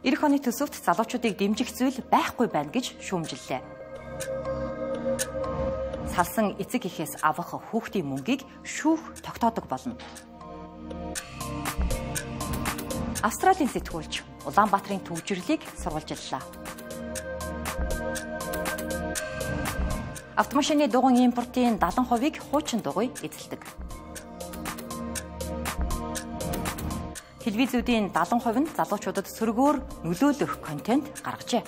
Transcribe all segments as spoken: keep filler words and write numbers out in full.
Ирэх оны төсөвт залуучуудыг дэмжих зүйл байхгүй байна гэж шүүмжиллээ. Салсан эцэг эхээс авах хүүхдийн мөнгийг шүүх тогтоодог болно. Австралийн сэтгүүлч Улаанбаатарын төвжирлийг сурвалжиллаа. Автомашины дугуйн импортын даатан хувийг хуучин дугуй эзэлдэг. Телевизүүдийн даатан хувь нь залуучуудад сөргөөр нөлөөлөх контент гаргажээ.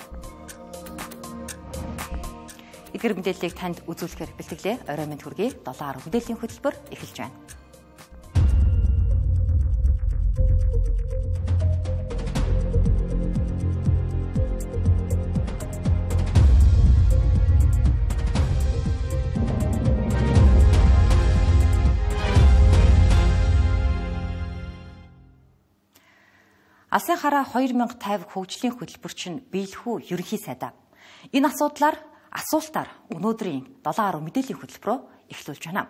Эдгээр мэдээллийг танд үзүүлэхээр бэлтгэлээ. Орой мэнд хүргэе. долоо гаруй мэдээллийн хөтөлбөр эхэлж байна. Алсын хараа хоёр мянга тавих хөгжлийн хөтөлбөрчин биелэхүү ерөнхий сайдаа. Энэ асуудлаар асуултаар өнөөдрийн долоо гаруй мэдээллийн хөтөлбөрөөр эхлүүлж байна.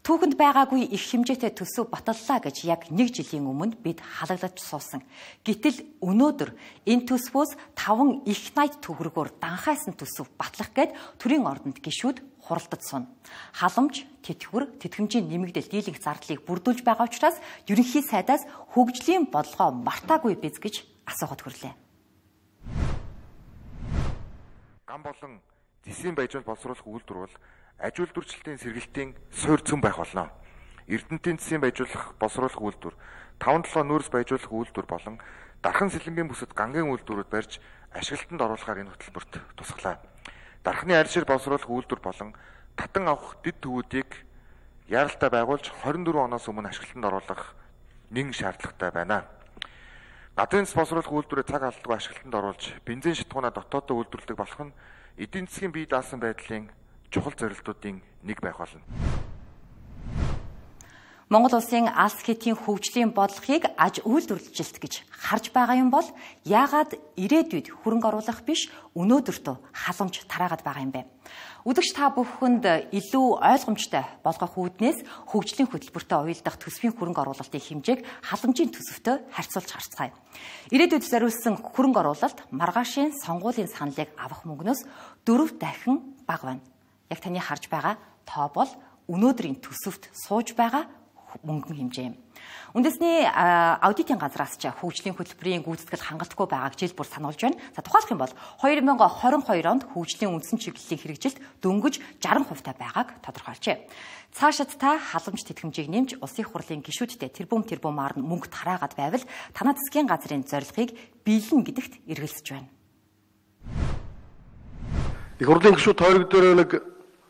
Түүхэнд байгаагүй их хэмжээтэй төсөв баталлаа гэж яг нэг жилийн өмнө бид халаглаж суусан. Гэтэл өнөөдөр энэ төсвөөс таван их найд төгрөгөөр данхайсан төсөв батлах гээд төрийн ордонд гишүүд хуралдаж суна. Халамж, тэтгэвэр, тэтгэмжийн нэмэгдэл дийлэнх зардлыг бүрдүүлж байгаа учраас ерөнхий сайдаас хөгжлийн бодлогоо мартаагүй биз гэж асуухад хүрлээ. Ган болон зэсийн баяжуулалт боловсруулах үйлдвэр бол аж үйлдвэрчлэлтийн сэргэлтийн суур цөм байх болно. Эрдэнэтийн зэсийн баяжуулах боловсруулах үйлдвэр, таван толгой нүүрс баяжуулах үйлдвэр болон дархан сэлэнгийн бүсэд гангийн үйлдвэрүүд барьж ашиглалтанд оруулахаар энэ хөтөлбөрт тусглаа. Дархны арьшир боловсруулах үйлдвэр болон татан авах дэд төвүүдийг яаралтай байгуулж хорин дөрвөн оноос өмнө ашиглалтанд оруулах нэг шаардлагатай байна. Гадны боловсруулах үйлдвэрээ цаг алдалгүй ашиглалтанд оруулж бензин шатгуунаа дотооддоо үйлдвэрлэдэг болох нь эдийн засгийн бие даасан байдлын чухал зорилтуудын нэг байх болно. Монгол улсын алс хэтийн хөгжлийн бодлогыг аж үйлдвэрлэлт гэж харж байгаа юм бол яагаад ирээдүйд хөрөнгө оруулах биш өнөөдөртөө халамж тараагаад байгаа юм бэ? Үдэгч та бүхэнд илүү ойлгомжтой болгох үүднээс хөгжлийн хөтөлбөртөө уялдах төсвийн хөрөнгө оруулалтын хэмжээг халамжийн төсөвтэй харьцуулж харцгаая. Ирээдүйд зориулсан хөрөнгө оруулалт маргаашийн сонгуулийн саналыг авах мөнгнөөс дөрөв дахин бага байна. Яг таны харж байгаа тоо бол өнөөдрийн төсөвт сууж байгаа мөнгөн хэмжээ юм. Үндэсний аудитын газраас ч хөгжлийн хөтөлбөрийн гүйцэтгэл хангалтгүй байгааг жил бүр сануулж байна. За тухайлх юм бол хоёр мянга хорин хоёр онд хөгжлийн үндсэн чиглэлийн хэрэгжилт дөнгөж жаргал хувьтай байгааг тодорхойлжээ. Цаашид та халамж тэтгэмжийг нэмж улсын хурлын гишүүдтэй тэрбум тэрбумаар нь мөнгө тараагаад байвал танай засгийн газрын зорилгыг биелнэ гэдэгт эргэлзэж байна. Их хурлын гишүүд тойрог дээр нэг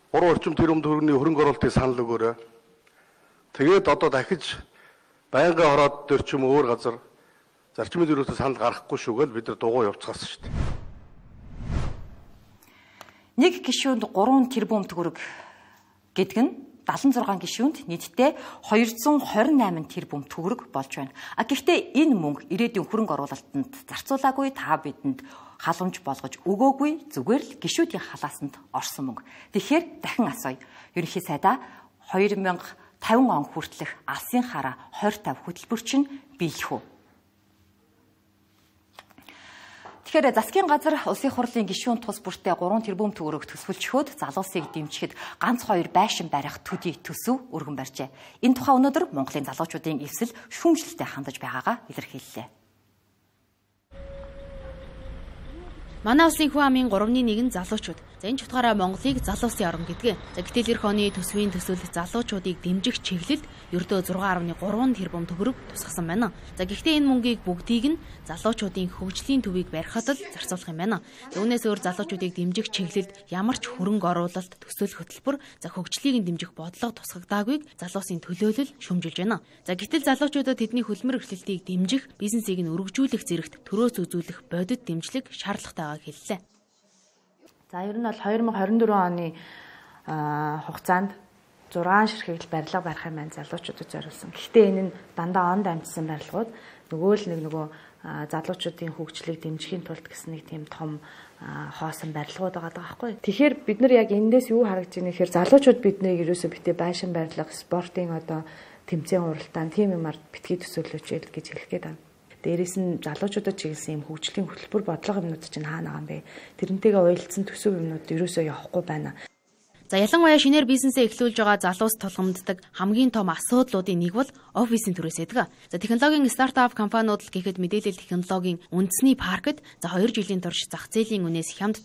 гурван орчим тэрбум төгрөгийн хөрөнгө оруулалтыг санал өгөөрэй. Тэгээд одоо дахиж байнгын хороод дээр ч юм өөр газар зарчмын зөрүүтэй санал гаргахгүй шүүгээл бид нар дугуй явуулчихсан шүү дээ. Нэг гишүүнд гурван тэрбум төгрөг гэдэг нь далан зургаан гишүүнд нийтдээ хоёрдугаар хорин найман тэрбум төгрөг болж байна. А гэхдээ энэ мөнгө ирээдүйн хөрөнгө оруулалтанд зарцуулаагүй та бидэнд халамж болгож өгөөгүй зүгээр л гишүүдийн халаасанд орсон мөнгө. Тэгэхээр дахин асууя. Ерөнхий сайдаа хоёр мянга тавин он хүртэлх алсын хараа хорь тавь хөтөлбөрчин биелэх үү? Тэгэхээр засгийн газар улсын хурлын гишүүн тус бүртээ гурван тэрбум төгрөг төсвөлчхөөд залуусыг дэмжихэд ганц хоёр байшин барих төдий төсөв өргөн барьжээ. Энэ тухай өнөөдөр Монголын залуучуудын эвсэл шүүмжлэлтэй хандаж байгаагаа илэрхийллээ. Манай улсын хүн амын гуравны нэг нь залуучууд. За энэ ч утгаараа Монголыг залуусын орн гэдэг. За гэтэл эх оны төсвийн төсөлд залуучуудыг дэмжих чиглэлд ердөө зургаан гаруй гурван тэрбум төгрөг тусгасан байна. За гэхдээ энэ мөнгийг бүгдийг нь залуучуудын хөгжлийн төвийг барихад л зарцуулах юм байна. Үүнээс өөр залуучуудыг дэмжих чиглэлд ямар ч хөрөнгө оруулалт төсөл хөтөлбөр за хөгжлийг нь дэмжих бодлого тусгагдаагүйг залуусын төлөөлөл шүүмжилж байна. За гэтэл залуучуудад тэдний хөлмөр эрхлэлтийг дэмжих, бизнесийг нь өргөжүүлэх зэрэгт төрөөс үзүүлэх бодит дэмжлэг шаардлагатай байгааг хэллээ. За ер нь бол хоёр мянга хорин дөрвөн оны хугацаанд зургаан ширхэгдэл барилга барих юм байна залуучуудад зориулсан. Гэхдээ энэ нь дандаа онд амжсан барилгууд нөгөө л нэг нөгөө залуучуудын хөгжлийг дэмжихийн тулд гэсэн нэг тийм том хоосон барилгууд байгаа байхгүй. Тэгэхээр бид нар яг эндээс юу харагдж байна гэхээр залуучууд биднийг ерөөсөө битээ байшин барилга, спортын одоо тэмцээн уралдаан тийм юмар битгий төсөөлөж ял гэж хэлэх гээд байна. Дээрээс нь залуучуудад чиглэсэн юм хөгжлийн хөтөлбөр бодлого юмнууд чинь хаана байгаа юм бэ? Тэрнтэйгээ уялдсан төсөв юмнууд ерөөсөө явахгүй байна. За ялангуяа шинээр бизнесээ эхлүүлж байгаа залуус тулгамддаг хамгийн том асуудлуудын нэг бол офисын төрөөс байдаг. За технологийн стартап компаниуд л гэхэд мэдээлэл технологийн үндэсний паркт за хоёр жилийн турш зах зээлийн үнээс хямд